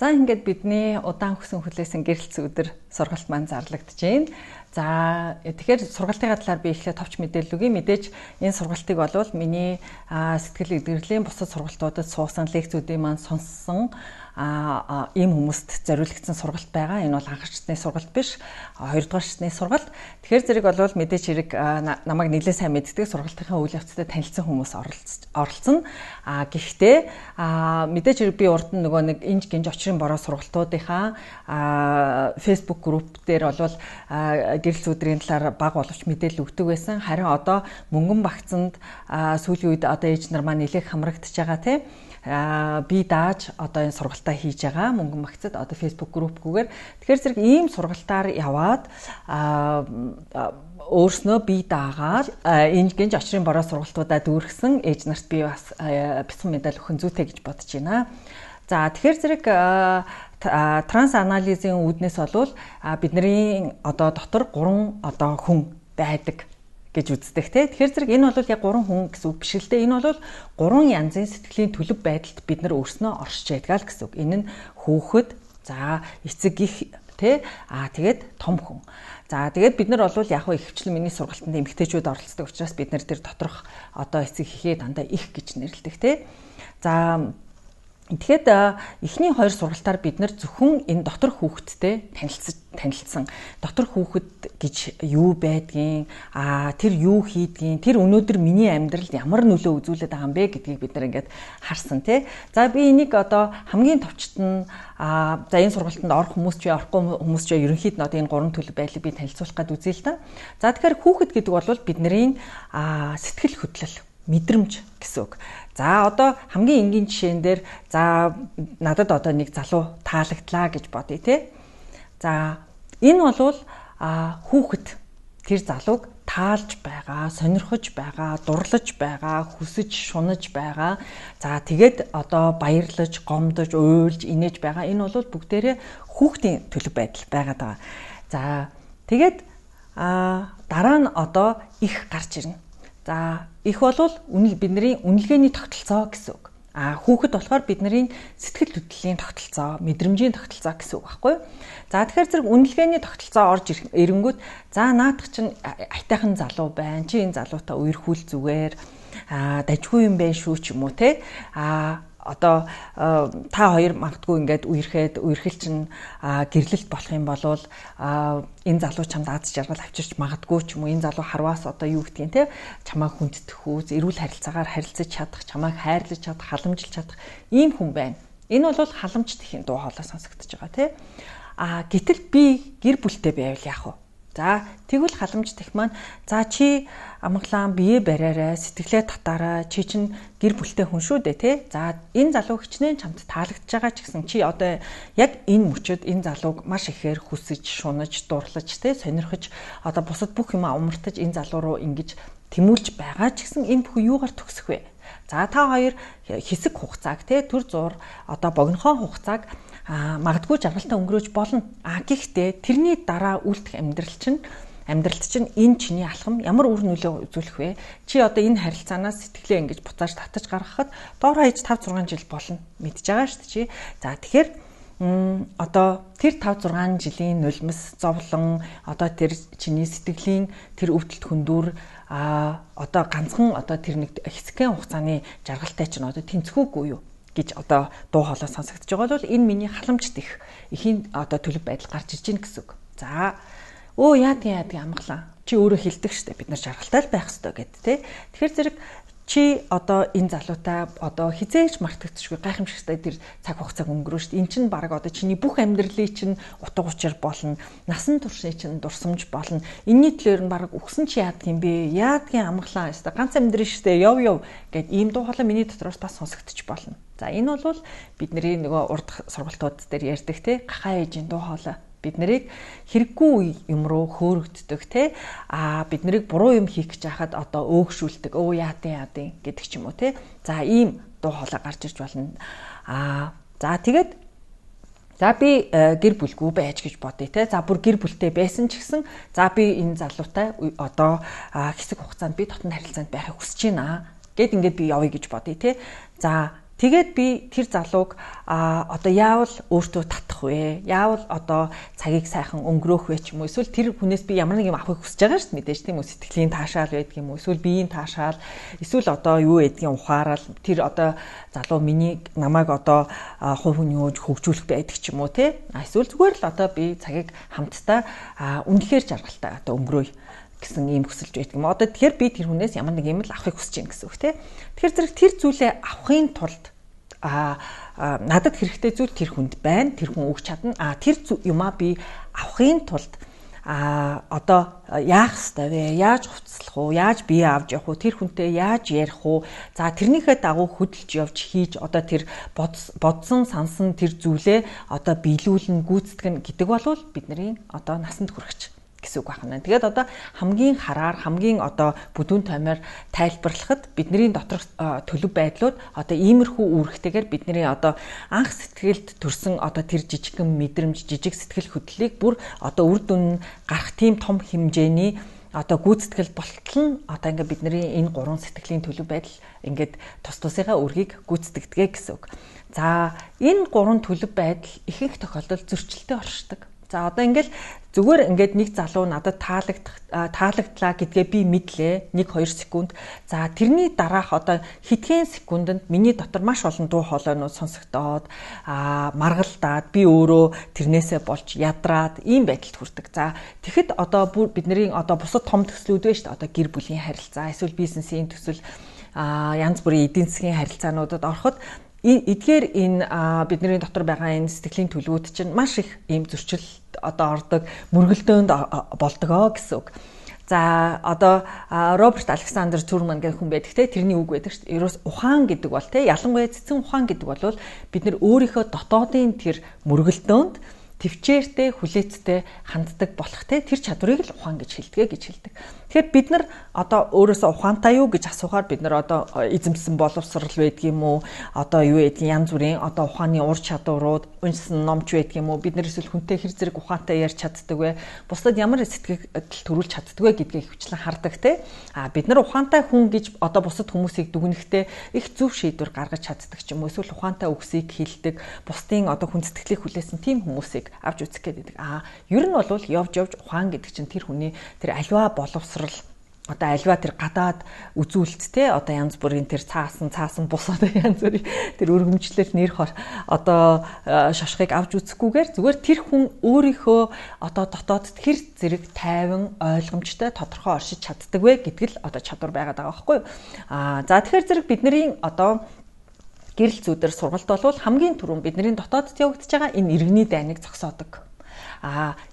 За ингээд бидний удаан хөсөн хүлээсэн гэрэлц өдөр сургалт маань зарлагдж байна. За тэгэхээр сургалтын талаар би эхлээд товч мэдээлэл өгье. Мэдээж энэ сургалтыг болвол миний сэтгэл эдгэрлийн бусад сургалтуудад суусан лекцүүдийн маань сонссон ийм хүмүүст зориулагдсан сургалт байгаа. Энэ бол анхаарчны сургалт биш, хоёрдугаарчны сургалт. Тэгэхээр зэрэг болвол мэдээж хэрэг намайг нэлээд сайн мэддэг сургалтынхаа үйл явцтай танилцсан хүмүүс оролцсон. Гэхдээ мэдээж хэрэг би урд нь нөгөө нэг инж гинж очрын бороо сургалтуудынхаа Facebook групп дээр болвол гэрэлц өдрийн талаар баг боловч мэдээлэл өгдөг байсан. Харин одоо мөнгөн багцанд сүүлийн үед одоо ээж нар маань нэлээд хамрагдчихж байгаа тийм. Би дааж одоо энэ сургалтаа хийж байгаа мөнгөн багцад одоо Facebook группгүйгээр тэгэхээр зэрэг ийм сургалтаар яваад өөрснөө би даагаад энэ гинж очрын бороо сургалтуудаа дүүргэсэн ээж нарт би бас бяцхан медаль өгөх зүйтэй гэж бодож байна. За тэгэхээр зэрэг транс анализийн үүднээс болвол бидний одоо дотор 3 одоо хүн байдаг гэж үздэг те. Тэгэхээр зэрэг энэ бол яг 3 хүн гэсэн үг биш л дээ. Энэ бол 3 янзын сэтгэлийн төлөв байдалд бид нар өөрснөө оршиж байдаг гэсэн үг. Энэ нь хүүхэд, за эцэг их те, тэгээд том хүн. За тэгээд бид нар бол яг ихэвчлэн миний сургалтанд эмэгтэйчүүд оролцдог учраас бид нар тэр доторх одоо эцэг ихээ дандаа их гэж нэрлэдэг те. За тэгэхэд эхний 2 сургалтаар бид нар зөвхөн энэ дотор хүүхэдтэй танилцсан. Дотор хүүхэд гэж юу байдгийг, тэр юу хийдгийг, тэр өнөөдөр миний амьдралд ямар нөлөө үзүүлээд байгаа юм бэ гэдгийг бид нар ингээд харсан тий. За би энийг одоо хамгийн товчт нь за энэ сургалтанд орох хүмүүс ч орохгүй хүмүүс ч ерөнхийд нь одоо энэ 3 төлөв байдлыг би танилцуулах гээд үзье л да. За тэгэхээр хүүхэд гэдэг бол бидний сэтгэл хөдлөл, мэдрэмж гэсэн үг. За одоо хамгийн энгийн жишээн дээр за надад одоо нэг залуу таалагдлаа гэж бодъё те. За энэ бол хүүхэд тэр залууг таалж байгаа, сонирхож байгаа, дурлаж байгаа, хүсэж, шунаж байгаа. За тэгээд одоо баярлаж, гомдож, уйлж, инээж байгаа. Энэ бол бүгдээрээ хүүхдийн төлөв байдал байгаад байгаа. За тэгээд дараа нь одоо их гарч ирнэ. За их болвол бидний үнэлгээний тогтолцоо гэсэн үг. Хүүхэд болохоор бидний сэтгэл хөдлөлийн тогтолцоо, мэдрэмжийн тогтолцоо гэсэн үг байхгүй юу? За тэгэхээр зэрэг үнэлгээний тогтолцоо орж ирэнгүүт за наадах чинь айтайхан залуу байна. Чи энэ залуутай үерхүүл зүгээр дажгүй юм байна шүү ч юм уу те. Одоо та хоёр магадгүй ингээд үерхэл чинь гэрлэлт болох юм бол энэ залуу чамд аз жаргал авчирч магадгүй ч юм уу энэ залуу харваас одоо юу гэдгийг те чамайг хүнддэх үү эрүүл харилцаагаар харилцаж чадах чамайг хайрлаж чадах халамжилж чадах ийм хүн байна. Энэ бол халамж тэхийн дуу хоолой сонсогдож байгаа те. Гэтэл би гэр бүлтэй байвал яах вэ? За тэгвэл халамж тэх маань за чи амглаан бие бариараа сэтгэлээ татаараа чи чинь гэр бүлтэй хүн шүү дээ тий. За энэ залуу хичнээн чамд таалагдж байгаа ч гэсэн чи одоо яг энэ мөчөд энэ залууг маш ихээр хүсэж, шунаж, дурлаж тий сонирхож одоо бусад бүх юм умартаж энэ залуу руу ингэж тэмүүлж байгаа ч гэсэн энэ бүхэн юугаар төгсөх вэ? За та хоёр хэсэг хугацааг тий төр зур одоо богинохон хугацааг магадгүй жаргалтай өнгөрөөж болно. Гэхдээ тэрний дараа үлдэх амьдралд чинь энэ чиний алхам ямар үр нөлөө үзүүлэх вэ? Чи одоо энэ харилцаанаас сэтгэлээ ингэж буцааж татаж гаргахад доор хаяж 5-6 жил болно. Мэдж байгаа шүү дээ чи. За тэгэхээр одоо тэр 5-6 жилийн нулимс зовлон одоо тэр чиний сэтгэлийн тэр өвдөлт хөндүр одоо ганцхан одоо тэр нэг хэсэгхэн хугацааны жаргалтай чинь одоо тэнцэхүүгүй юу гэж одоо дуу хоолой сонсогдож байгаа бол энэ миний халамжт их эхийн одоо төлөв байдал гарч ирж байна гэсэн үг. За яадаг амглаа. Чи өөрөө хэлдэг штэ бид нар жаргалтай л байх ёстой гэд тэ. Тэгэхээр зэрэг чи одоо энэ залуутай одоо хизээч мартагдчихгүй гайхамшигтай тэр цаг хугацааг өнгөрөө штэ. Эн чинь баг одоо чиний бүх амьдралыг чинь утга учир болно. Насан туршийн чинь дурсамж болно. Энийний төлөөр нь баг өгсөн чи яадаг юм бэ? Яадгийн амглаа штэ. Ганц амьдрын штэ. Яв гэд ийм дуу хоолой миний дотроос бас сонсогдож болно. За энэ бол бидний нөгөө урд сургалтууд дээр ярьдаг те гахаа ээжийн дуу хоолой. Бид нарыг хэрэггүй юм руу хөөрөгддөг те бид нарыг буруу юм хийх гэж хахад одоо өөгшүүлдэг яадын гэдэг ч юм уу те. За ийм дуу хоолой гарч ирж болно. За тэгээд за би гэр бүлгүй байж гэж бодъё те. За бүр гэр бүлтэй байсан ч гэсэн за би энэ залуутай одоо хэсэг хугацаанд би дотн харилцаанд байхыг хүсэж байна гэд ингээд би явъя гэж бодъё те. За Тэгээд би тэр залууг одоо яавал өөртөө татах вэ? Яавал одоо цагийг сайхан өнгөрөөх вэ ч юм уу? Эсвэл тэр хүнээс би ямар нэг юм авахыг хүсэж байгаа шүү дээ мэдээж тийм үү? Сэтгэлийн таашаал байдаг юм уу? Эсвэл биеийн таашаал, эсвэл одоо юу гэдгийг ухаарал тэр одоо залуу намайг одоо хувь хүний хөгжүүлэх байдаг ч юм уу те? Эсвэл зүгээр л одоо би цагийг хамтдаа үнэхээр жаргалтай одоо өнгөрөөе гэсэн ийм хүсэлж байдаг юм. Одоо тэгэхээр би тэр хүнээс ямар нэг юм л авахыг хүсэж байна гэсэн үг тий. Тэгэхээр зэрэг тэр зүйлээ авахын тулд надад хэрэгтэй зүйл тэр хүнд байна. Тэр хүн өгч чадна. Тэр юмаа би авахын тулд одоо яах ёстой вэ? Яаж хувцлах уу? Яаж бие авч явах уу? Тэр хүнтэй яаж ярих уу? За тэрнийхээ дагуу хөдөлж явж хийж одоо тэр бодсон сансан тэр зүйлээ одоо биелүүлэн гүйцэтгэн гэдэг болвол бидний одоо насанд хүрэгч гэсэн үг байна. Тэгээд одоо хамгийн хараар хамгийн одоо бүдүүн томьёор тайлбарлахад бидний доторх төлөв байдлууд одоо иймэрхүү үүрэгтэйгээр бидний одоо анх сэтгэлд төрсэн одоо тэр жижигхэн мэдрэмж, жижиг сэтгэл хөдлөлийг бүр одоо үр дүн гарах тийм том хэмжээний одоо гүйцэтгэл болтол нь одоо ингээд бидний энэ гурван сэтгэлийн төлөв байдал ингээд тус тусынхаа үргийг гүйцэтгэдэг гэсэн үг. За энэ гурван төлөв байдал ихэнх тохиолдолд зөрчилтэй оршдог. За одоо ингээл зүгээр ингээд нэг залуу надад таалагдлаа гэдгээ би мэдлээ 1-2 секунд. За тэрний дараах одоо хэдхэн секундэд миний дотор маш олон дуу хоолойнууд сонсогдоод маргалдаад би өөрөө тэрнээсээ болж ядраад ийм байдалд хүрдэг. За тэгэхэд одоо бидний одоо бусад том төслүүд байна шүү дээ. Одоо гэр бүлийн харилцаа, эсвэл бизнесийн төсөл, янз бүрийн эдийн засгийн харилцаануудад ороход эдгээр энэ бидний дотор байгаа энэ сэтгэлийн төлөвүүд чинь маш их ийм зөрчил одоо ордог, мөргөлдөөнд болдгоо гэсэн үг. За одоо Роберт Александр Цүрман гэх хүн байдаг те, тэрний үг байдаг шүү дээ. Ерөөс ухаан гэдэг бол те, ялангуяа цэцэн ухаан гэдэг бол бид нар өөрийнхөө дотоодын тэр мөргөлдөөнд төвчээртэй, хүлээцтэй ханддаг болох те, тэр чадварыг л ухаан гэж хэлдэг. Тэгэхээр бид нар одоо өөрөөсөө ухаантай юу гэж асуухаар бид нар одоо эзэмсэн боловсрал байдаг юм уу? Одоо юу гэдгийг янз бүрийн одоо ухааны ур чадварууд, уншсан номч байдаг юм уу? Бид нар эсвэл хүнтэй хэр зэрэг ухаантай ярьж чаддаг вэ? Бусдад ямар сэтгэл төрүүлж чаддаг вэ гэдгийг хвчлэн хардаг те. Бид нар ухаантай хүн гэж одоо бусад хүмүүсийг дүгнэхдээ их зөв шийдвэр гаргаж чаддаг ч юм уу? Эсвэл ухаантай үгсийг хэлдэг, бусдын одоо хүн сэтгэлийг хүлээсэн тийм хүмүүсийг авч үзэх гэдэг. Ер нь бол явж ухаан гэдэг чинь тэр хүний тэр аливаа боловсрал одоо альва тэр гадаад үзүүлэлттэй одоо янз бүрийн тэр цаасан бус одоо янз бүрийн тэр өргөмжлөл нэр хор одоо шошхыг авч үзэхгүйгээр зүгээр тэр хүн өөрийнхөө одоо дотоодд хэр зэрэг тайван ойлгомжтой тодорхой оршиж чаддаг вэ гэдэг л одоо чадвар байгаад байгаа байхгүй юу. За тэгэхээр зэрэг бидний одоо гэрэл зүйдэр сургалт болвол хамгийн түрүүн бидний дотоодд явагдаж байгаа энэ иргэний дайныг зогсоодог.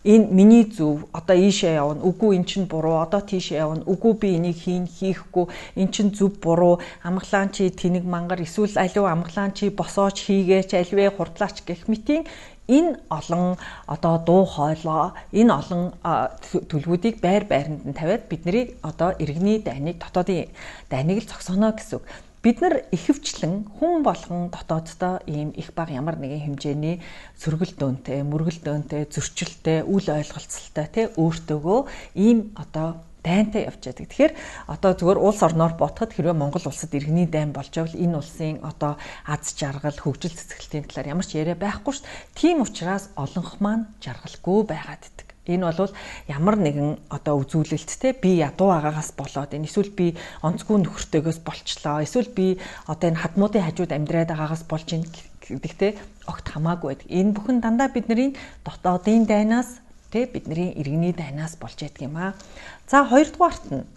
Энэ миний зөв одоо ийшээ явна, үгүй эн чинь буруу, одоо тийшээ явна, үгүй би энийг хийхгүй, эн чинь зөв буруу, амгалаан чи тэнэг мангар, эсвэл аливаа амгалаан чи босооч хийгээч, аливаа хурдлаач гэх мэтийн энэ олон одоо дуу хоолой, энэ олон төлөвүүдийг байр-байранд нь тавиад бидний одоо иргэний дайныг, дотоодын дайныг л зогсооно гэсэн үг. Бид нар ихэвчлэн хүн болгон дотооддоо ийм их баг ямар нэгэн хэмжээний сөргөлдөөнтэй, мөргөлдөөнтэй, зөрчилтэй, үл ойлголцолтой те өөртөөгөө ийм одоо дайнтай явж байдаг. Тэгэхээр одоо зөвхөн улс орноор ботход хэрвээ Монгол улсад иргэний дайн болж байвал энэ улсын одоо аз жаргал, хөгжил цэцгэлтийн талаар ямар ч яриа байхгүй шүү дээ. Тийм учраас олонх маань жаргалгүй байгаад идэг. Энэ бол ямар нэгэн одоо үзүүлэлттэй би ядуу агаагаас болоод энэ эсвэл би онцгүй нөхөртэйгөөс болчлоо, эсвэл би одоо энэ хадмуудын хажууд амьдраад байгаагаас болж ийн гэдэгтэй огт хамаагүй байдаг. Энэ бүхэн дандаа бидний дотоодын дайнаас тэ бидний иргэний дайнаас болж байдаг юм аа. За хоёрдугаарт нь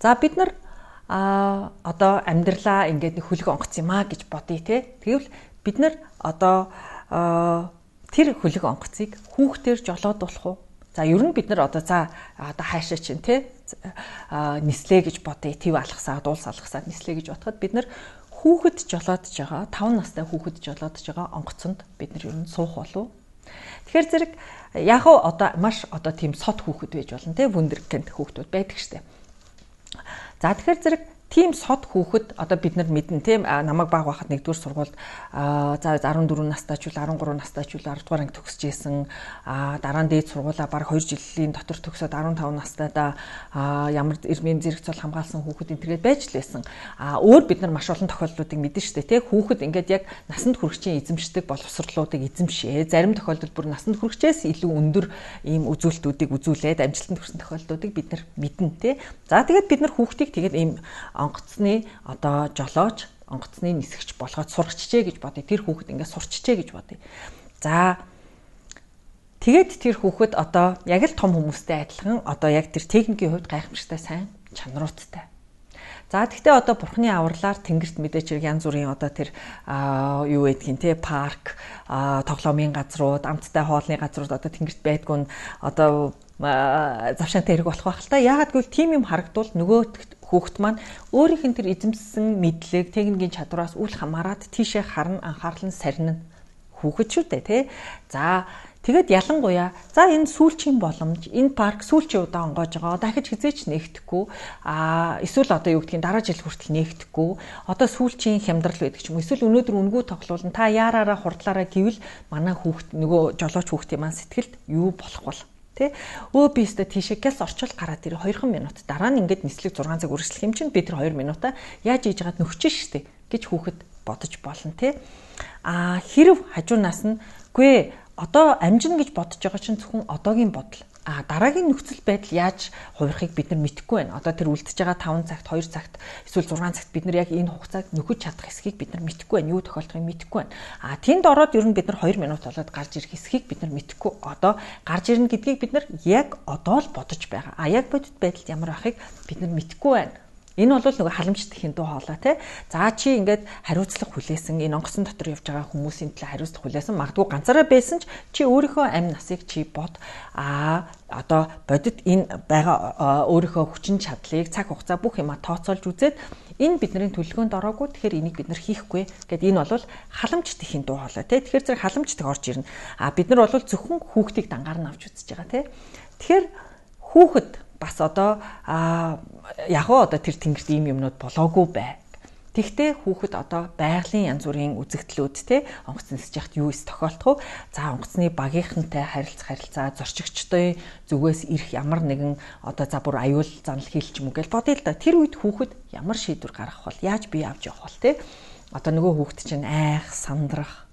за бид нар одоо амьдралаа ингээд нэг хөлөг онгоц юм аа гэж бодъё тэ. Тэгвэл бид нар одоо тэр хөлөг онгоцыг хүүхдээр жолоодуулах уу? За ер нь бид нар одоо одоо хаашаа чинь тий нислээ гэж бодъё. Тэв алгасаа, дуулс алгасаа нислээ гэж бодоход бид нар хүүхэд жолоодж байгаа, 5 настай хүүхэд жолоодж байгаа онгоцонд бид нар ер нь суух болов. Тэгэхээр зэрэг яг одоо маш одоо тийм сод хүүхэд байж болно тий, вундеркинд хүүхдүүд байдаг штэ. За тэгэхээр зэрэг тийм сод хүүхэд одоо бид нар мэднэ тийм намайг баг байхад 1-р сургуульд за 14 настай ч үл 13 настай ч үл 10 дугаар анги төгсөж исэн дараа нь дээд сургуулаа баг 2 жилийн дотор төгсөөд 15 настайдаа ямар эрмийн зэрэг цол хамгаалсан хүүхэд энтергээд байж л байсан. Өөр бид нар маш олон тохиолдлуудыг мэднэ шүү дээ тийм хүүхэд ингээд яг насанд хүрэгчийн эзэмшдэг боловсролуудыг эзэмшээ. Зарим тохиолдолд бүр насанд хүрэгчээс илүү өндөр ийм үзүүлэлтүүдийг үзүүлээд амжилтанд хүрсэн тохиолдлуудыг бид нар мэднэ тийм. За тэгээд бид нар хүүхдийг тэгээд ийм онгоцны одоо жолооч, онгоцны нисгч болгоод сургачжээ гэж бодъё. Тэр хүүхэд ингээд сурчжээ гэж бодъё. За тэгээд тэр хүүхэд одоо яг л том хүмүүстэй адилхан одоо яг тэр техникийн хувьд гайхамшигтай сайн чанаруудтай. За тэгтээ одоо бурхны авралаар тэнгэрт мэдээч янз бүрийн одоо тэр юу гэдгийг те парк, тоглоомын газрууд, амттай хоолны газрууд одоо тэнгэрт байдгүй нь одоо завшаантай хэрэг болох байх л та. Яагаад гэвэл тийм юм харагдвал нөгөө хүүхэд маань өөрийнх нь тэр эзэмссэн мэдлэг, техникийн чадвараас үл хамааран тийшээ харна, анхаарал нь сарнина. Хүүхэд шүү дээ тий. За тэгээд ялангуяа за энэ сүүлчийн боломж, энэ парк сүүлчийн удаа онгойж байгаа. Дахиж хизээч нээгдэхгүй. Эсвэл одоо юу гэдгийг дараа жил хүртэл нээгдэхгүй. Одоо сүүлчийн хямдрал байдаг ч юм уу. Эсвэл өнөөдөр үнгүү тоглуулна. Та яараараа хурдлаараа гэвэл манай хүүхэд нөгөө жолооч хүүхдийн маань сэтгэлд юу болох бол тэ би өстө тийшээ гяс орчуул гараад ирээ 2 минут дараа нь ингээд нислэг 6 цаг үргэлжлэх юм чинь би тэр 2 минутаа яаж хийж байгаад нөхчөн штэ гэж хүүхэд бодож болно тэ хэрв хажуунаас нь үгүй одоо амжина гэж бодож байгаа чинь зөвхөн одоогийн бодол дараагийн нөхцөл байдал яаж хувирахыг бид нар мэдэхгүй байна. Одоо тэр үлдэж байгаа 5 цагт, 2 цагт, эсвэл 6 цагт бид нар яг энэ хугацааг нөхөж чадах эсхийг бид нар мэдэхгүй байна. Юу тохиолдохыг мэдэхгүй байна. Тэнд ороод ер нь бид нар 2 минут болоод гарч ирэх эсхийг бид нар мэдэхгүй. Одоо гарч ирнэ гэдгийг бид нар яг одоо л бодож байгаа. Яг бодит байдалд ямар байхыг бид нар мэдэхгүй байна. Энэ бол нөгөө халамжтай хинтүү хоолой тий. За чи ингээд хариуцлага хүлээсэн энэ онгоцон дотор явж байгаа хүмүүсийн төлөө хариуцлага хүлээсэн. Магадгүй ганцаараа байсан ч чи өөрийнхөө амь насыг чи бод одоо бодит энэ байгаа өөрийнхөө хүчин чадлыг цаг хугацаа бүх юма тооцоолж үзээд энэ бидний төлөвлөгөөнд ороогүй. Тэгэхээр энийг бид нар хийхгүй гэд энэ бол халамжтай хинтүү хоолой тий. Тэгэхээр зэрэг халамжтай орж ирнэ. Бид нар бол зөвхөн хүүхдийг дангаар нь авч үзэж байгаа тий. Тэгэхээр хүүхэд бас одоо яг одоо тэр тэнгэрт ийм юмнууд болоогүй бай. Тэгтээ хүүхэд одоо байгалийн янз бүрийн үзэгдлүүд те онгоц нисэж яхад юу ис тохиолдох вэ? За онгоцны багийнхантай харилцаа зорчигчдын зүгээс ирэх ямар нэгэн одоо за бүр аюул занал хийлч юм уу гэж бодъё л да. Тэр үед хүүхэд ямар шийдвэр гаргах вэ? Яаж бие авч явах вэ те? Одоо нөгөө хүүхэд чинь айх, сандрах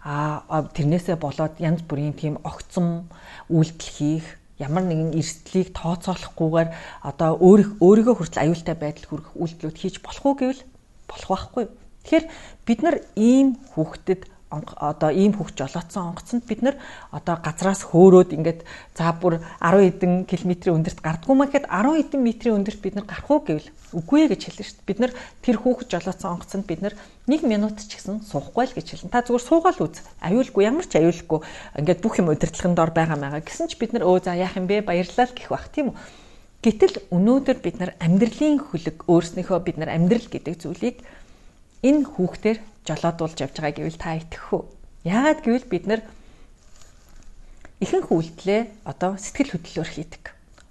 тэрнээсээ болоод янз бүрийн тийм огцом үйлдэл хийх ямар нэгэн эрсдлийг тооцоолохгүйгээр одоо өөрийгөө хүртэл аюултай байдал хүрэх үйлдэлүүд хийж болох уу гэвэл болох байхгүй. Тэгэхээр бид нар ийм хүүхдэд одоо ийм хүүхд жолоодсон онгоцонд бид нар одоо газраас хөөрөөд ингээд за бүр 10 хэдэн километрийн өндөрт гардггүй маа гэхэд 10 хэдэн метрийн өндөрт бид нар гарах уу гэвэл үгүй гэж хэлнэ шүү дээ. Бид нар тэр хүүхд жолоодсон онгоцонд бид нар 1 минут ч гэсэн суухгүй л гэж хэлнэ. Та зүгээр суугаал үз. Аюулгүй ямар ч аюулгүй ингээд бүх юм удирдлагын дор байгаа гэсэн ч бид нар за яах юм бэ баярлалаа гэх бах тийм үү. Гэтэл өнөөдөр бид нар амьдралын хөлөг өөрснийхөө бид нар амьдрал гэдэг зүйлийг энэ хүүхдээр жолоодуулж явж байгаа гэвэл та итгэх үү? Яагаад гэвэл бид нар ихэнх үйлдэлээ одоо сэтгэл хөдлөлөөр хийдэг.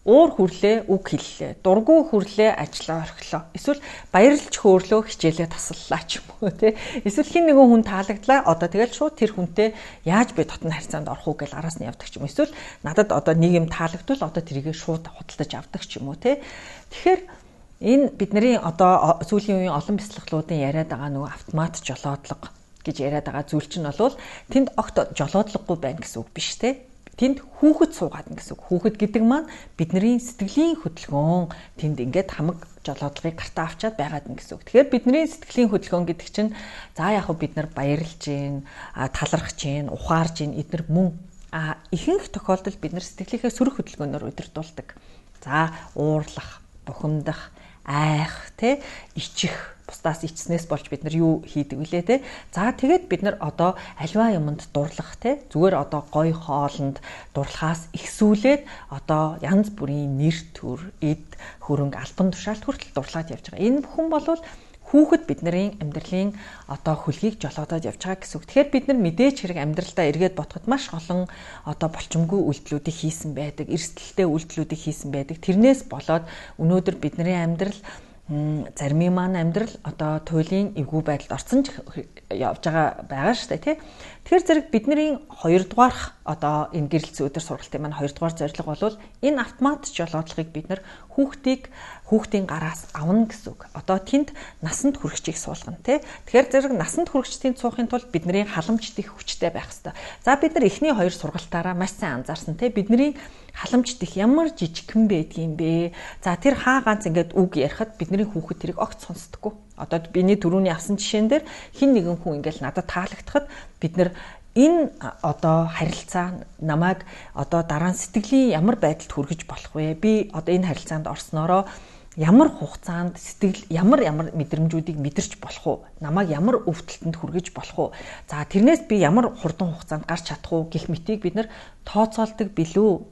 Уур хүрлээ, үг хэллээ, дургүй хүрлээ, ажиллаа орхилоо. Эсвэл баярлж хөөрлөө, хичээлээ таслалаа ч юм уу тий. Эсвэл хин нэгэн хүн таалагдлаа. Одоо тэгэл шууд тэр хүнтэй яаж би дотн харьцаанд орох уу гэж араас нь явдаг ч юм. Эсвэл надад одоо нэг юм таалагдвал одоо тэрийг шууд худалдаж авдаг ч юм уу тий. Тэгэхээр энэ бидний одоо сүүлийн үеийн олон бяцлаглуудын яриад байгаа нөгөө автомат жолоодлого гэж яриад байгаа зүйл чинь бол тэнд огт жолоодлогогүй байна гэсэн үг биш те. Тэнд хүүхэд суугаад гэсэн үг. Хүүхэд гэдэг маань бидний сэтгэлийн хөдөлгөөн тэнд ингээд хамаг жолоодлогыг гартаа авчаад байгаад гэсэн үг. Тэгэхээр бидний сэтгэлийн хөдөлгөөн гэдэг чинь за яг бид нар баярлж гин, талархж гин, ухаарж гин эдгээр мөн ихэнх тохиолдолд бид нар сэтгэлийнхээ сөрөг хөдөлгөөнөөр удирдуулдаг. За уурлах, бухимдах, айх те ичих бусдаас ичснээс болж бид нар юу хийдэг вүлээ те. За тэгээд бид нар одоо альва юмд дурлах те зүгээр одоо гой хоолнд дурлахаас ихсүүлээд одоо янз бүрийн нэр төр, эд, хөрөнгө, албан тушаалт хүртэл дурлаад явж байгаа. Энэ бүхэн болвол хүүхэд бидний амьдралын одоо хөлгийг жолоодоод явж байгаа гэсэн үг. Тэгэхээр бид нар мэдээж хэрэг амьдралдаа эргээд бодоход маш олон одоо болчмгүй үйлдэлүүдийг хийсэн байдаг, эрсдэлтэй үйлдэлүүдийг хийсэн байдаг. Тэрнээс болоод өнөөдөр бидний амьдрал зарим маань амьдрал одоо туйлын эвгүй байдалд орсон ч явж байгаа шүү дээ тий. Тэгэхээр зэрэг бидний 2 дугаарх одоо энэ гэрэлцсэн өдөр сургалтын маань 2 дугаар зорилго бол энэ автомат жолоодлогыг бид нар хүүхдийн гараас авна гэсэн үг. Одоо тэнд насанд хүрэгчийг суулгана тий. Тэгэхээр зэрэг насанд хүрэгчдийн цуухын тулд бидний халамжт их хүчтэй байх хэрэгтэй. За бид нар эхний 2 сургалтаараа маш сайн анзаарсан тий. Бидний халамжт их ямар жижигхэн байдгийм бэ? За тэр хаа ганц ингээд үг ярихад бидний хүүхэд тэрийг огт сонсдоггүй. Одоо биний түрүүний авсан жишээн дээр хин нэгэн хүн ингээд надад таалагдахад бид нар энэ одоо харилцаа намайг одоо дараа нь сэтгэлийн ямар байдалд хүргэж болох вэ? Би одоо энэ харилцаанд орсноороо ямар хугацаанд сэтгэл ямар мэдрэмжүүдийг мэдэрч болох уу? Намайг ямар өвдөлтөнд хүргэж болох уу? За тэрнээс би ямар хурдан хугацаанд гарч чадах уу гэх мэтийг бид нар тооцоолдог билүү?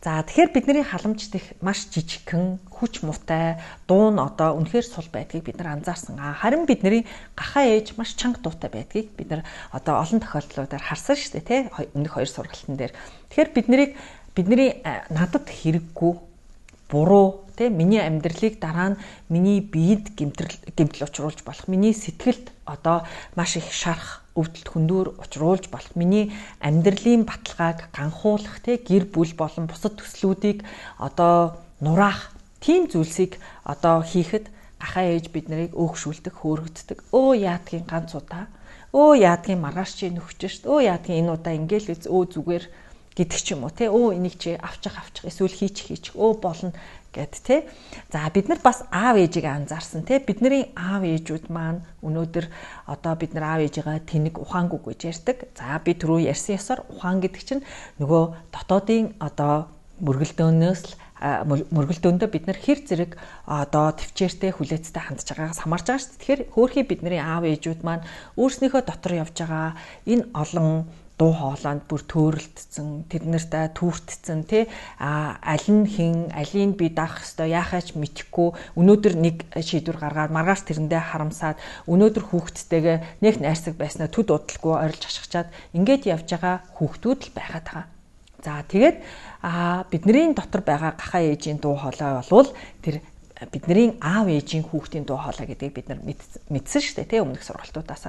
За тэгэхээр бидний халамжт их маш жижигхэн, хүч муутай, дуу нь одоо үнэхээр сул байдгийг бид нар анзаарсан. Харин бидний гахаа ээж маш чанга дуутай байдгийг бид нар одоо олон тохиолдлуудаар харсан шүү дээ, тий? Өмнөх 2 сургалтын дээр. Тэгэхээр бидний надад хэрэггүй, буруу, тий? Миний амьдралыг дараа нь миний биед гэмтэл учруулж болох, миний сэтгэлд одоо маш их шарах, өвдөлт хүндүүр учруулж болох, миний амьдралын баталгааг ганхуулах, тий? Гэр бүл болон бусад төслүүдийг одоо нураах тийм зүйлсийг одоо хийхэд гахаа ээж бид нарыг өөгшүүлдэг, хөөргөддөг. Өө яадгийн ганц удаа, өө яадгийн маргааш чи нөхөж шүү дээ, өө яадгийн энэ удаа ингээл зүгээр гэдэг ч юм уу, тий? Өө энийг чи авчих эсвэл хийчих болно гэд тий. За бид нар бас аав ээжийг анзаарсан тий. Бидний аав ээжүүд маань өнөөдөр одоо бид нар аав ээжигээ тэнэг ухаангүй гэж ярьдаг. За би түрүү ярьсан ёсоор ухаан гэдэг чинь нөгөө дотоодын одоо мөргөлдөөндөө бид нар хэр зэрэг одоо төвчээртэй хүлээцтэй хандж байгаагаас хамаарч байгаа шүү дээ. Тэгэхээр хөөхий бидний аав ээжүүд маань өөрснийхөө дотор явж байгаа энэ олон дуу хоолойнд бүр төөрөлдсөн, тэднэртэй түүртсэн тий, аль нь хин, алийг би даах ёстой, яахаач мэдэхгүй, өнөөдөр нэг шийдвэр гаргаад маргааш тэрэндээ харамсаад, өнөөдөр хүүхдтэйгээ нэг найрсаг байснаа төд удалгүй орилж хашгичаад ингээд явж байгаа хүүхдүүд л байгаад байгаа. За тэгээд бидний дотор байгаа гахаа ээжийн дуу хоолой болвол тэр бидний аав ээжийн хүүхдийн дуу хоолой гэдгийг бид нар мэдсэн шүү дээ тий, өмнөх сургалтуудаас.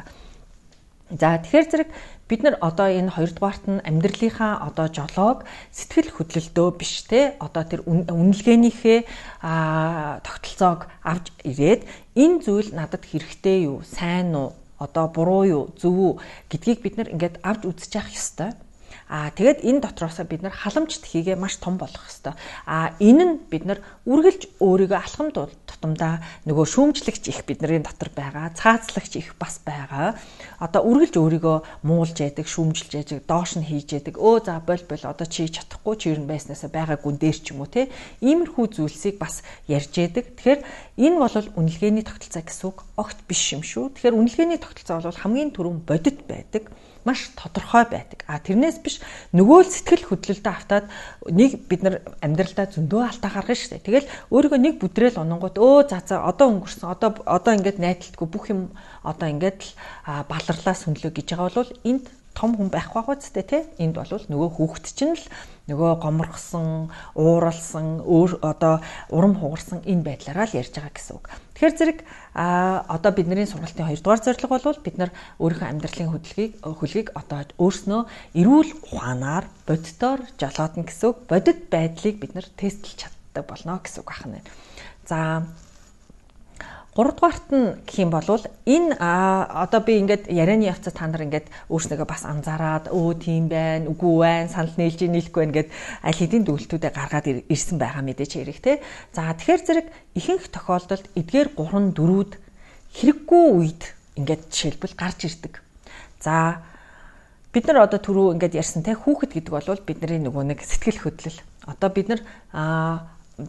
За тэгэхээр зэрэг бид нар одоо энэ 2 дугаарт нь амьдралынхаа одоо жолоог сэтгэл хөдлөлтөө биш те одоо тэр үнэлгээнийхээ тогтолцоог авч ирээд энэ зүйл надад хэрэгтэй юу, сайн уу, одоо буруу юу, зөв үү гэдгийг бид нар ингээд авч үзэж явах ёстой. Тэгээд энэ дотроосоо бид нар халамжт хийгээ маш том болох ёстой. Энэ нь бид нар үргэлж өөрийгөө алхам тутамдаа нөгөө шүүмжлэгч их бидний дотор байгаа, цаацлагч их бас байгаа. Одоо үргэлж өөрийгөө муулж яадаг, шүүмжилж яадаг, доош нь хийж яадаг. За бол одоо чи чадахгүй, чи ер нь байснаасаа байгаагүй дээр ч юм уу те. Иймэрхүү зүйлсийг бас ярьж яадаг. Тэгэхээр энэ бол үнэлгээний тогтолцоо гэсэн үг огт биш юм шүү. Тэгэхээр үнэлгээний тогтолцоо бол хамгийн түрүүн бодит байдаг. Маш тодорхой байдаг. Тэрнээс биш нөгөө л сэтгэл хөдлөлтөд автаад нэг бид нар амьдралдаа зөндөө алдаа гаргана шүү дээ. Тэгэл өөрийгөө нэг бүдрээл ононгууд за одоо өнгөрсөн одоо ингээд найдалтгүй бүх юм одоо ингээд л баларлаа сүнлөө гэж байгаа бол энд том хүн байх байгаа үстэй тий. Энд бол нөгөө хүүхэд чинь л нөгөө гоморхсон, ууралсан, одоо урам хугарсан энэ байдлаараа л ярьж байгаа гэсэн үг. Тэгэхээр зэрэг одоо бидний сургалтын 2 дугаар зорилго бол бид нар өөрийнхөө амьдралын хөлгийг одоо өөрснөө эрүүл ухаанаар бодитоор жолоодно гэсэн үг. Бодит байдлыг бид нар тестлж чаддаг болно гэсэн үг байна. За 3 дугаарт нь гэх юм бол энэ одоо би ингээд ярианы явцад та нар ингээд өөрснөөгөө бас анзаараад тийм байна, үгүй байна, санал нийлж нийлэхгүй байна гэд аль хэдийн дүгнэлтүүдээ гаргаад ирсэн байгаа мэдээж хэрэг те. За тэгэхээр зэрэг ихэнх тохиолдолд эдгээр 3 4-үүд хэрэггүй үед ингээд жишээлбэл гарч ирдэг. За бид нар одоо түрүү ингээд ярьсан те хүүхэд гэдэг бол бидний нөгөө нэг сэтгэл хөдлөл. Одоо бид нар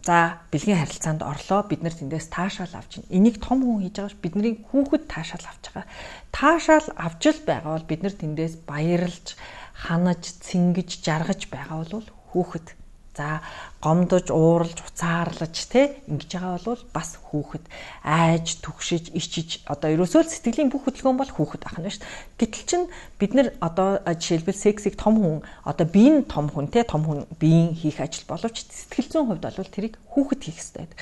за бэлгийн харилцаанд орлоо, бид нар тэндээс таашаал авч байна. Энийг том хүн хийж байгаа ш бидний хүүхэд таашаал авч байгаа. Таашаал авч л байгаа бол бид нар тэндээс баярлж, ханаж, цингэж, жаргаж байгаа бол хүүхэд. За гомдож, ууралж, уцаарлаж те ингэж байгаа бол бас хүүхэд айж, түгшиж, ичиж одоо ерөөсөө л сэтгэлийн бүх хөдөлгөөн бол хүүхэд ах нь шүү дээ. Гэтэл чин бид нар одоо жишээлбэл сексийг том хүн одоо биеийн том хүн те том хүн биеийн хийх ажил боловч сэтгэл зүйн хувьд бол тэрийг хүүхэд хийх хэрэгтэй байдаг.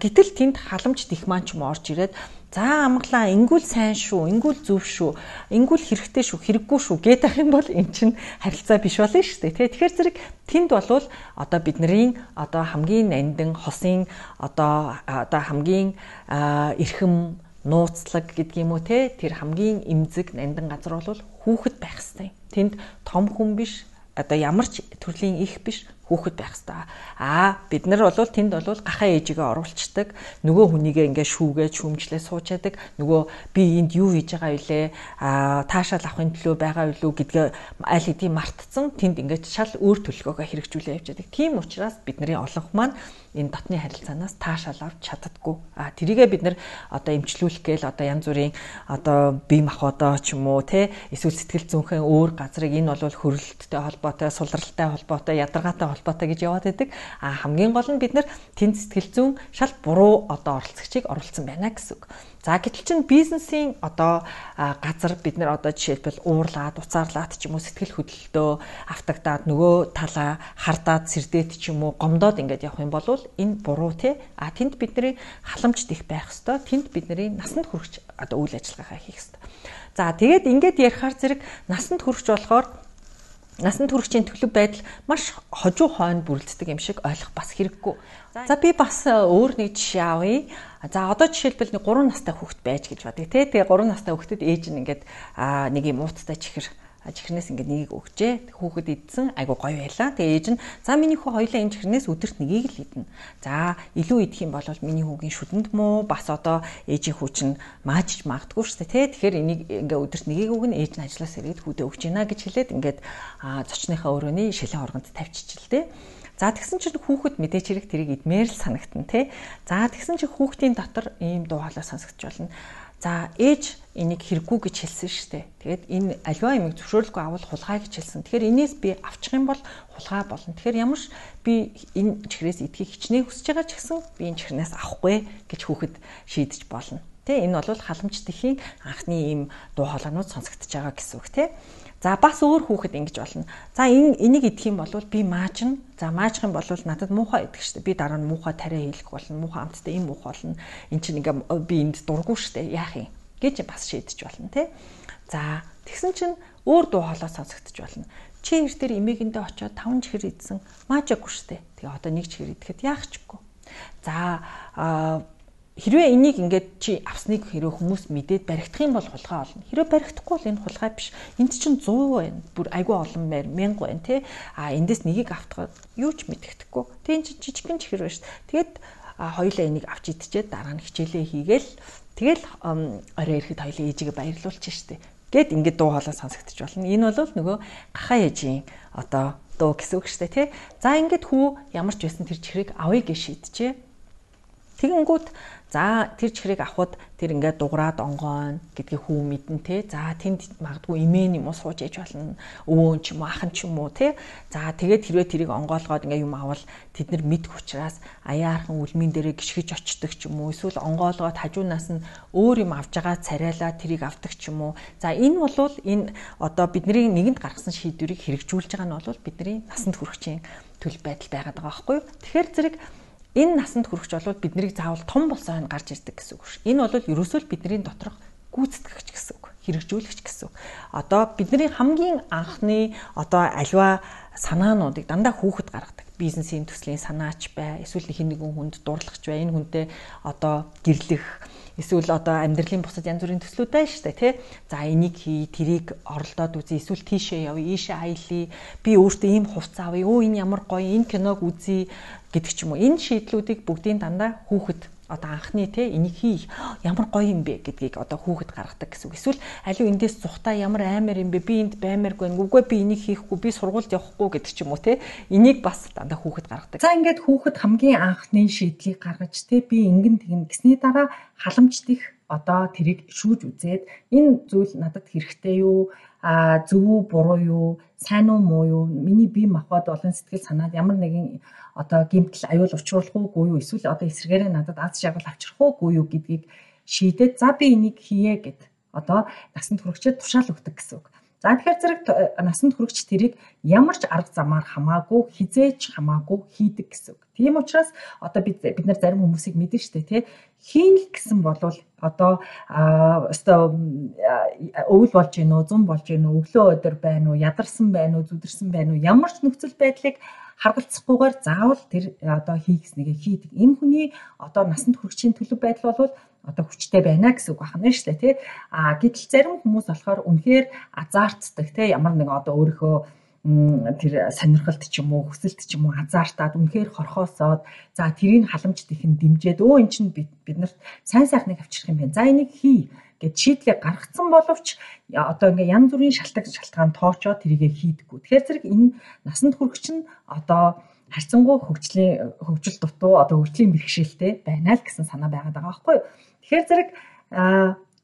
Гэтэл тэнд халамж дихман ч юм орж ирээд за амглаа ингүүл сайн шүү, ингүүл зөв шүү, ингүүл хэрэгтэй шүү, хэрэггүй шүү гэдэг юм бол эн чинь харилцаа биш болно шүү дээ. Тэгэхээр зэрэг тэнд болвол одоо бидний одоо хамгийн нандин хосын одоо хамгийн эрхэм нууцлаг гэдэг юм уу те тэр хамгийн эмзэг нандин газар бол хүүхэд байх хэрэгтэй. Тэнд том хүн биш одоо ямар ч төрлийн их биш хүүхэд байх хэрэгтэй. Бид нар бол тэнд бол гахаа ээжигээ оруулцдаг. Нөгөө хүнийгээ ингээ шүүгээд шүүмжлээ суучаадаг. Нөгөө би энд юу хийж байгаа вүлээ? Таашаал авахын төлөө байгаа юу гэдгээ аль хэдийн мартцсан. Тэнд ингээ шал өөр төлөвлөгөөгөө хэрэгжүүлээ явж байдаг. Тийм учраас бидний олонх маань энэ дотны харилцаанаас таашаал авч чаддаггүй. Тэрийгээ бид нар одоо эмчлүүлэх гээл одоо янз бүрийн одоо бие махбодоо ч юм уу те эсвэл сэтгэл зүйнхэн өөр газрыг энэ бол хөрөлттэй холбоотой, сулралтай холбоотой, ядаргаатай холбоотой гэж яваад байдаг. Хамгийн гол нь бид нар тэнд сэтгэл зүйн шал буруу одоо оролцогчийг оруулсан байна гэсэн үг. За гэтэл чин бизнесийн одоо газар бид нар одоо жишээлбэл уурлаад, уцаарлаад ч юм уу сэтгэл хөдлөлтөө автагдаад нөгөө талаа хардаад сэрдээд ч юм уу гомдоод ингээд явах юм бол энэ буруу те. Тэнд бидний халамж дэх байх хэвээр. Тэнд бидний насанд хүрэх одоо үйл ажиллагаагаа хийх хэвээр. За тэгээд ингээд ярихаар зэрэг насанд хүрч болохоор насанд хүрэгчийн төлөв байдал маш хожуу хойно бүрэлддэг юм шиг ойлгох бас хэрэггүй. За би бас өөр нэг жишээ авъя. За одоо жишээлбэл 3 настай хүүхэд байж гэж бодъё те. Тэгээ 3 настай хүүхдэд ээж нь ингээд нэг юм ууттай чихэрнээс ингээд нэгийг өгчээ. Хүүхэд идсэн айгу гоё байлаа. Тэгээ ээж нь за миний хүү хоёлаа энэ чихэрнээс өдөрт нэгийг л идэнэ. За илүү идэх юм бол миний хүүгийн шүдэнд муу бас одоо ээжийн хүү чинь маажиж магадгүй шүү дээ те. Тэгэхээр энийг ингээд өдөрт нэгийг өгнө ээж нь ажлаас ирээд хүүдээ өгч гинэ гэж хэлээд ингээд зочныхаа өрөөний шилэн оргонд тавьчихжээ. За тэгсэн чинь хүүхэд мэдээч хэрэг тэрийг идмээр л санагтана те. За тэгсэн чинь хүүхдийн дотор ийм дуу хоолой сонсогдож болно. За ээж энийг хэрэггүй гэж хэлсэн шүү дээ. Тэгээд энэ аливаа юмыг зөвшөөрлөхгүй авал хулгай гэж хэлсэн. Тэгэхээр энээс би авчих юм бол хулгай болно. Тэгэхээр ямарч би энэ чихрээс идэхийг хичнээн хүсэж байгаа ч гэсэн би энэ чихрнээс авахгүй гэж хүүхэд шийдэж болно. Тэ энэ бол халамж тэхийн анхны ийм дуу хоолойнууд сонсогдож байгаа гэсэн үг те. За бас өөр хүүхэд ингэж болно. За энийг идэх юм бол би маажна. За маажих юм бол надад муухай идэх штэ. Би дараа нь муухай тариа хийлгэх болно. Муухай амттай юм муухай болно. Энд чинь ингээ би энд дурггүй штэ. Яах юм гэж бас шийдэж болно те. За тэгсэн чинь өөр дуу хоолой сонсогдож болно. Чи эр дээр эмээгэндээ очиод 5 чихэр идсэн. Маажаагүй штэ. Тэгээ одоо нэг чихэр идэхэд яах чгүй. За хэрвээ энийг ингээд чи авсныг хэрвээ хүмүүс мэдээд баригдах юм бол хулгай олно. Хэрвээ баригдахгүй бол энэ хулгай биш. Энд чинь 100 байна. Бүр айгүй олон байр 1000 байна тий. Эндээс нэгийг автгаад юу ч мэддэхгүй. Тэг энэ чинь жижигхэн чихэр байна шүү. Тэгээд хоёулаа энийг авч идчихээд дараа нь хичээлээ хийгээл тэгэл орой ирэхэд хоёулаа ээжигээ баярлуулчих штэ. Гэт ингээд дуу хоолой сонсогдож болно. Энэ бол нөгөө гахаа ээжийн одоо дуу гэсэн үг штэ тий. За ингээд хүү ямар ч байсан тэр чихрийг авъя гэж шийджээ. Тэгэнгүүт за тэр чихрийг авахд тэр ингээд дуграад онгойн гэдгийг хүү мэдэн те. За тэнд магадгүй эмээ юм уу сууж ээж болно. Өвөө ч юм уу ах ч юм уу те. За тэгээд хэрвээ тэрийг онгойлгоод ингээд юм авал тэд нар мэдэх учраас аяархан үлмийн дээрээ гიშгэж очдөг ч юм уу. Эсвэл онгойлгоод хажуунаас нь өөр юм авж байгаа царайлаа тэрийг авдаг ч юм уу. За энэ бол энэ одоо бидний нэгэнд гаргасан шийдвэрийг хэрэгжүүлж байгаа нь бол бидний насанд хүрэгчийн төлөв байдал байгаад байгаа байхгүй юу. Тэгэхээр зэрэг энэ насанд хүрэгч бол биднийг заавал том болсон хойно гарч ирдэг гэсэн үг шүү. Энэ бол ерөөсөө л бидний доторх гүйцэтгэгч гэсэн үг, хэрэгжүүлэгч гэсэн үг. Одоо бидний хамгийн анхны одоо аливаа санаануудыг дандаа хүүхэд гаргадаг. Бизнесийн төслийн санаач бай, эсвэл хэн нэгэн хүнд дурлагч бай, энэ хүнтэй одоо гэрлэх, эсвэл одоо амьдралын бусад янз бүрийн төслүүд байна шүү дээ, тий. За энийг хий, тэрийг оролдоод үзье, эсвэл тийшээ явъя, ийшээ аялье, би өөртөө ийм хувцас авъя, энэ ямар гоё, энэ киног үзье гэдэг ч юм уу. Энэ шийдлүүдийг бүгдийн дандаа хүүхэд одоо анхны те энийг хий ямар гоё юм бэ гэдгийг одоо хүүхэд гаргадаг гэсэн үг. Эсвэл аливаа эндээс зүхтаа ямар аймаар юм бэ? Би энд баймааргүй. Үгүй би энийг хийхгүй, би сургуульд явахгүй гэдэг ч юм уу те. Энийг бас дандаа хүүхэд гаргадаг. За ингээд хүүхэд хамгийн анхны шийдлийг гаргаж те би ингэн тэгнэ гэсний дараа халамжтих одоо тэрийг шүүж үзээд энэ зүйл надад хэрэгтэй юу, зөв үү, буруу юу, сайн уу, муу юу, миний бие махбод болон сэтгэл санаад ямар нэгэн одоо гэмтэл аюул учруулах уугүй юу, эсвэл одоо эсрэгээрээ надад аз жаргал авчрах уугүй юу гэдгийг шийдээд за би энийг хийе гэд одоо насанд хүрэгчид тушаал өгдөг гэсэн үг. За тэгэхээр зэрэг насанд хүрэгч тэрийг ямар ч арга замаар хамаагүй, хизээж хамаагүй хийдэг гэсэн үг. Тийм учраас одоо бид нар зарим хүмүүсийг мэдэн штэ тий. Хийн л гэсэн болвол одоо өстой өвөл болж гин үү, зун болж гин үү, өглөө өдөр байна уу, ядарсан байна уу, зүдэрсэн байна уу, ямар ч нөхцөл байдлыг харгалцахгүйгээр заавал тэр одоо хийхснийгээ хийдэг. Энэ хүний одоо насанд хүрэгчийн төлөв байдал бол одоо хүчтэй байна гэсэн үг байна шүү дээ тий. Гэтэл зарим хүмүүс болохоор үнэхээр азартдаг тий. Ямар нэг одоо өөрийнхөө тэр сонирхолт ч юм уу, хүсэлт ч юм уу азартаад үнэхээр хорхоосоод за тэрийг халамж дихэн дэмжиэд өө эн чинь биднэрт сайн сайхныг авчрах юм байна. За энийг хий гэд шийдлээ гаргацсан боловч одоо ингээ янз бүрийн шалтгаан тоочоод тэрийгэ хийдэггүй. Тэгэхээр зэрэг энэ насанд хүрэгч нь одоо харьцангуй хөгжил дутуу одоо хөгжлийн бэрхшээлтэй байна л гэсэн санаа байгаад байгаа байхгүй юу. Тэгэхээр зэрэг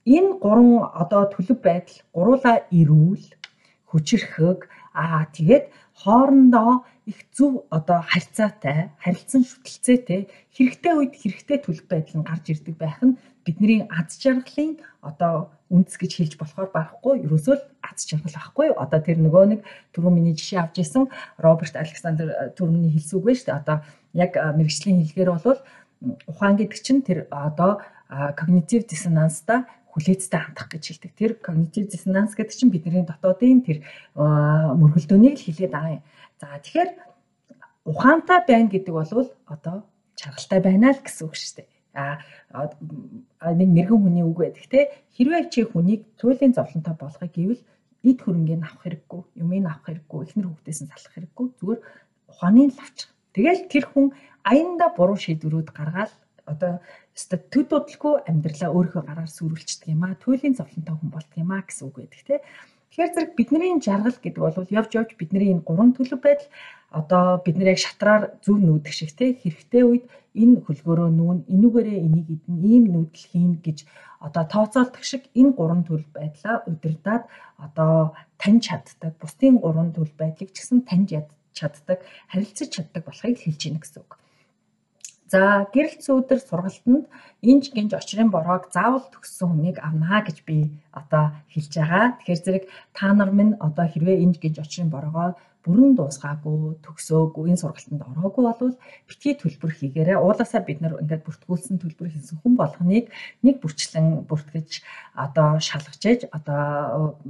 энэ гурван одоо төлөв байдал гуруула эрүүл, хүчирхэг тэгээд хоорондоо их зөв одоо харьцаатай, харилцан шүтэлцээтэй хэрэгтэй үед хэрэгтэй төлөв байдал нь гарч ирдэг байх нь бидний аз жаргалын одоо үндэс гэж хэлж болохоор барахгүй ерөөсөө л аз жаргал байхгүй юу. Одоо тэр нөгөө нэг түрүү миний жишээ авч исэн Роберт Александр түрүүний хэлсэн үг байна шүү дээ. Одоо яг мэргэжлийн хэлгээр бол ухаан гэдэг чинь тэр одоо когнитив диссонанстай хүлээцтэй хандах гэж хэлдэг. Тэр когнитив диссонанс гэдэг чинь бидний дотоодын тэр мөргөлдөөнийг л хэлээд байгаа юм. За тэгэхээр ухаантай байна гэдэг бол одоо чаргалтай байна л гэсэн үг шүү дээ. Нэг мэрэгэн хүний үг байдаг те. Хэрвээ чи хүнийг туйлын зовлонтой болгохыг гэвэл эд хөрөнгөний авах хэрэггүй, юмыг авах хэрэггүй, эхнэр хүүхдээс нь салах хэрэггүй. Зүгээр ухааны л авчих. Тэгэл тэр хүн аяндаа буруу шийдвэрүүд гаргаад одоо төд бодлого амьдралаа өөрийнхөө гараар сүрүүлчихдэг юм аа. Туйлын зовлонтой хүн болдог юм аа гэсэн үг байдаг те. Тэгэхээр зэрэг бидний жаргал гэдэг бол явж бидний энэ гурван төлөв байдал одоо бид нэр яг шатраар зөв нүүдэх шиг те хэрэгтэй үед энэ хөлгөөрөө нүүн энүүгээрээ энийг идэн ийм нүүдэл хийн гэж одоо тооцоолдог шиг энэ гурван төлөв байдлаа удирдаад одоо таньж чаддаг бусдын гурван төлөв байдлыг ч гэсэн таньж чаддаг харилцаж чаддаг болохыг хэлж ийнэ гэсэн үг. За гэрэлцсэн өдөр сургалтанд инж гинж очрын бороог заавал төгссөн хүнийг авнаа гэж би одоо хэлж байгаа. Тэгэхээр зэрэг та нар минь одоо хэрвээ инж гинж очрын бороогоо бүрэн дуусгаагүй төгсөөгүй энэ сургалтанд ороогүй болвол битгий төлбөр хийгээрэй. Уулаасаа бид нар ингээд бүртгүүлсэн төлбөр хийсэн хүн болгоныг нэг бүрчлэн бүртгэж одоо шалгаж ээж одоо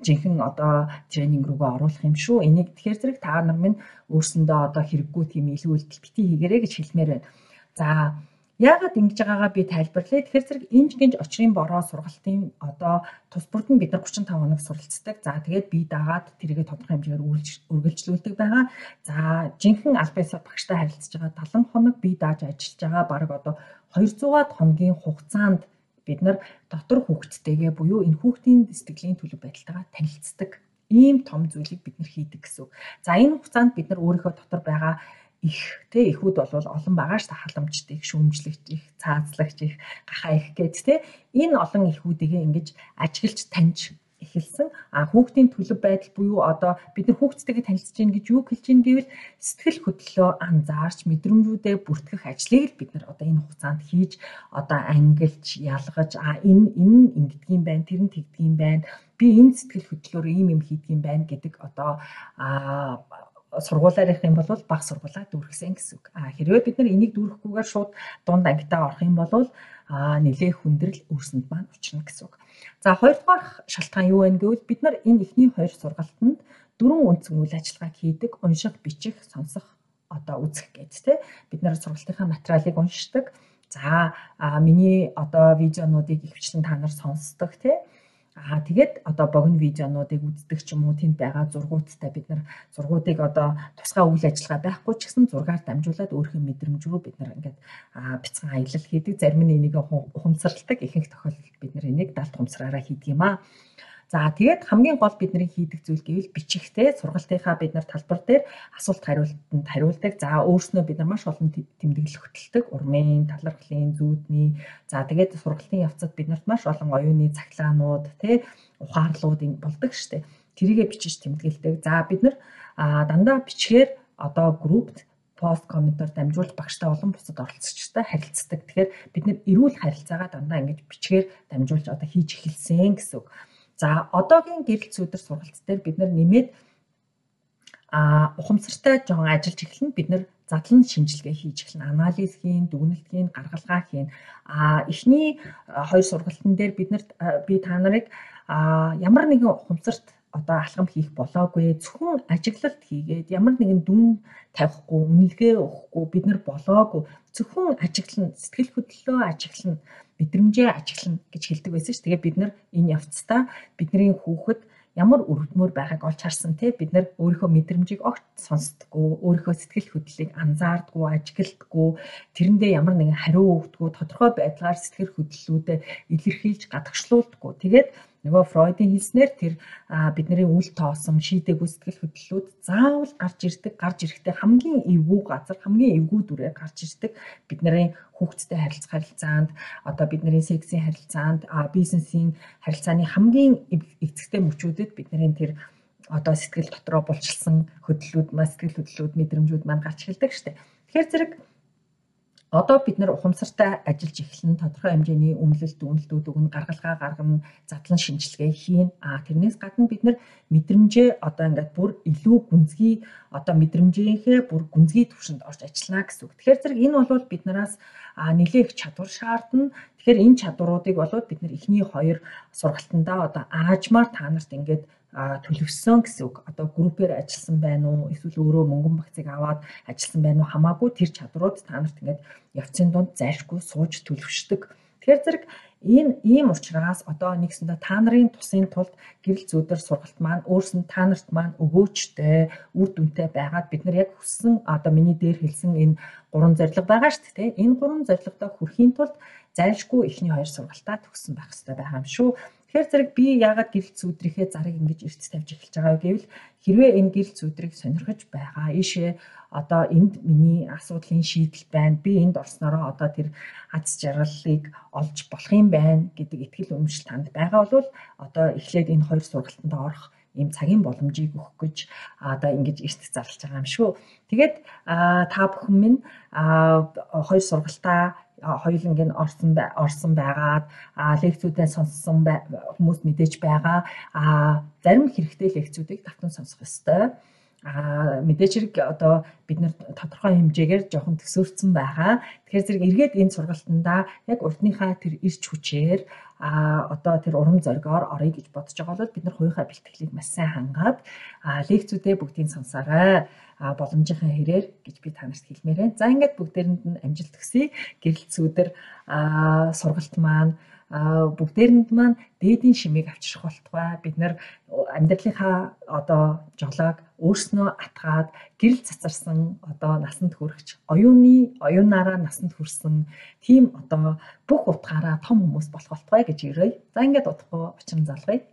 жинхэнэ одоо тренинг руугаа оруулах юм шүү. Энийг тэгэхээр зэрэг та нар минь өөрсөндөө одоо хэрэггүй тийм илүү үйлдэл битгий хийгээрэй гэж хэлмээр байна. За яагаад ингэж байгаагаа би тайлбарлая. Тэгэхээр зэрэг инж гинж очрын бороо сургалтын одоо тус бүрд нь бид нар 35 хоног суралцдаг. За тэгээд бие даагаад тэргээ тодорхой хэмжээгээр үргэлжлүүлдэг байгаа. За жинхэнэ аль биесээр багштай харилцаж байгаа 70 хоног бие дааж ажиллаж байгаа баг одоо 200-аад хоногийн хугацаанд бид нар дотор хүүхдтэйгээ буюу энэ хүүхдийн сэтгэлийн төлөв байдалтайгаа танилцдаг. Ийм том зүйлийг бид нар хийдэг гэсэн үг. За энэ хугацаанд бид нар өөрийнхөө дотор байгаа эхүүд бол олон байгаа ш халамжт их, шүүмжлэгч их, цаазлагч их, гахаа их гэд энэ олон эхүүдийг ингэж ажиглаж таньж эхэлсэн. Хүүхдийн төлөв байдал буюу одоо бид нар хүүхдтэйгээ танилцж гин гэж юу хэлж гин гэвэл сэтгэл хөдлөлөө анзаарч мэдрэмжүүдээ бүртгэх ажлыг л бид нар одоо энэ хугацаанд хийж одоо ангилж ялгаж энэ ингэдгийм байна, тэр нь тэгдгийм байна. Би энэ сэтгэл хөдлөлөөр ийм хийдгийм байна гэдэг одоо сургуулаар явах юм бол баг сургуулаа дүүргэсэн гэсэн үг. Хэрвээ бид нар энийг дүүрэхгүйгээр шууд дунд ангитаа орох юм бол нэлээ хүндрэл өөрсөнд маань учрна гэсэн үг. За хоёрдугаар шалтгаан юу вэ гэвэл бид нар энэ эхний хоёр сургалтанд 4 үндсэн үйл ажиллагааг хийдэг. Унших, бичих, сонсох, одоо үзэх гэдэг те. Бид нар сургалтынхаа материалыг уншдаг. За миний одоо видеонуудыг ихвчлэн та нар сонсдог те. Тэгээд одоо богино видеонуудыг үздэг ч юм уу тэнд байгаа зургуудтай бид нар зургуудыг одоо тусгай үйл ажиллагаа байхгүй ч гэсэн зургаар дамжуулаад өөрийнхөө мэдрэмж рүү бид нар ингээд бяцхан аялал хийдэг. Зарим нь энийг ухамсарладаг, ихэнх тохиолдолд бид нар энийг далд ухамсараараа хийдэг юм аа. За тэгээд хамгийн гол бидний хийдэг зүйл гэвэл бичихтэй сургалтынхаа бид нар талбар дээр асуулт хариултанд хариулдаг. За өөрснөө бид нар маш олон тэмдэглэл хөтэлдэг. Урмын, талархлын, зүүдний. За тэгээд сургалтын явцад бид нарт маш олон оюуны цаглаанууд, ухаарлууд болдог штеп. Тэрийгэ бичиж тэмдэглэдэг. За бид нар дандаа бичгээр одоо группт пост комментоор дамжуулж багштай олон бусад оролцогчтой харилцдаг. Тэгэхээр бид нэр эрүүл харилцаагаа дандаа ингэж бичгээр дамжуулж одоо хийж эхэлсэн гэсэн үг. За одоогийн гэрэл зүйдэр сургалт дээр бид нар нэмээд ухамсартай жоохон ажиллаж эхэлнэ. Бид нар задлан шинжилгээ хийж эхэлнэ. Анализ хийн, дүгнэлт хийн, гаргалгаа хийн. Эхний 2 сургалтын дээр бид та нарыг ямар нэгэн ухамсарт одоо алхам хийх болоогүй, зөвхөн ажиглалт хийгээд ямар нэгэн дүн тавихгүй, үнэлгээ өгөхгүй бид нар болоогүй. Зөвхөн ажиглан, сэтгэл хөдлөлөө ажиглан, мэдрэмжээ ажиглан гэж хэлдэг байсан ш. Тэгээ бид нар энэ явцдаа бидний хүүхэд ямар өргөдмөр байгааг олж харсан бид нар өөрийнхөө мэдрэмжийг огт сонсдоггүй, өөрийнхөө сэтгэл хөдлөлийг анзаардаггүй, ажигладаггүй, тэрэндээ ямар нэгэн хариу өгдөггүй, тодорхой байдлаар сэтгэл хөдлөлүүдээ илэрхийлж гадагшлуулдаггүй. Тэгээд нөгөө Фройдын хэлснээр тэр бидний үл тоосон шийдэггүй сэтгэл хөдлөлүүд заавал гарч ирэхдээ хамгийн эвгүй газар, хамгийн эвгүй дүрээр гарч ирдэг. Бидний хүүхдтэй харилцаанд, одоо бидний сексийн харилцаанд, бизнесийн харилцааны хамгийн эцэгтэй мөчүүдэд бидний тэр одоо сэтгэл дотроо булчилсан сэтгэл хөдлөлүүд, мэдрэмжүүд маань гарч эхэлдэг штеп. Тэгэхээр зэрэг одоо бид нар ухамсартай ажиллаж эхэлнэ, тодорхой хэмжээний үнэлэлт, дүгнэлтүүд өгнө, гаргалгаа гаргана, задлан шинжилгээ хийн. Тэрнээс гадна бид нар мэдрэмжээ одоо ингээд бүр илүү гүнзгий одоо мэдрэмжийнхээ бүр гүнзгий түвшинд орж ажиллана гэсэн үг. Тэгэхээр зэрэг энэ бол биднээс нэлээх чадвар шаардна. Тэгэхээр энэ чадваруудыг болоод бид нар эхний 2 сургалтандаа одоо аажмаар та нарт ингээд төлөвсөн гэсэн үг. Одоо группээр ажилласан байна уу, эсвэл өөрөө мөнгөн багцыг аваад ажилласан байна уу хамаагүй тэр чадварууд та нарт ингээд явцын дунд зайлшгүй сууж төлөвшдөг. Тэгэхээр зэрэг ийм учраас одоо нэгсэндээ та нарын тусын тулд гэрэл зүйдэр сургалт маань өөрсөнд та нарт маань өгөөчтэй, үр дүнтэй байгаад бид нар яг хүссэн одоо миний дээр хэлсэн энэ 3 зорилго байгаа шүү дээ. Энэ 3 зорилгодоо хүрэхийн тулд зайлшгүй эхний 2 сургалтаа төгссөн байх хэрэгтэй байгаа юм шүү. Тэгэхээр зэрэг би яагаад гэрэл зүйдрийнхээ зарыг ингэж эрт тавьж эхэлж байгаа гэвэл хэрвээ энэ гэрэл зүйдрийг сонирхож байгаа ийшээ одоо энд миний асуудлын шийдэл байна. Би энд орсноороо одоо тэр аз жаргалыг олж болох юм байна гэдэг итгэл үнэмшил танд байгаа бол одоо эхлээд энэ 2 сургалтанд орох ийм цагийн боломжийг өгөх гэж одоо ингэж эрт зарлаж байгаа юм шүү. Тэгээд та бүхэн минь 2 сургалтаа хоёуланг нь орсон байгаад лекцүүдээ сонссон хүмүүс мэдээж байгаа. Зарим хэрэгтэй лекцүүдийг давтан сонсох ёстой. Мэдээж хэрэг одоо бид нар тодорхой хэмжээгээр жоохон төсөөлсөн байгаа. Тэгэхээр зэрэг эргээд энэ сургалтандаа яг урдныхаа тэр ирч хүчээр одоо тэр урам зоригоор орё гэж бодож байгаа бол бид нар хувийнхаа бэлтгэлийг маш сайн хангаад лекцүүдээ бүгдийг сонсоорой. Боломжийнхаа хэрээр гэж би та нарт хэлмээр байна. За ингээд бүгдээрэнд нь амжилт хүсье. Гэрэл зүйдэр сургалт маань бүгдээрэнд маань дээдийн шимийг авчрах болтугай. Бид нар амьдралынхаа одоо жолоог өөрснөө атгаад гэрэл цацарсан одоо насанд хүрэгч оюунаараа насанд хүрсэн тийм одоо бүх утгаараа том хүмүүс болох болтугай гэж өрөөе. За ингээд удахгүй учран залгая.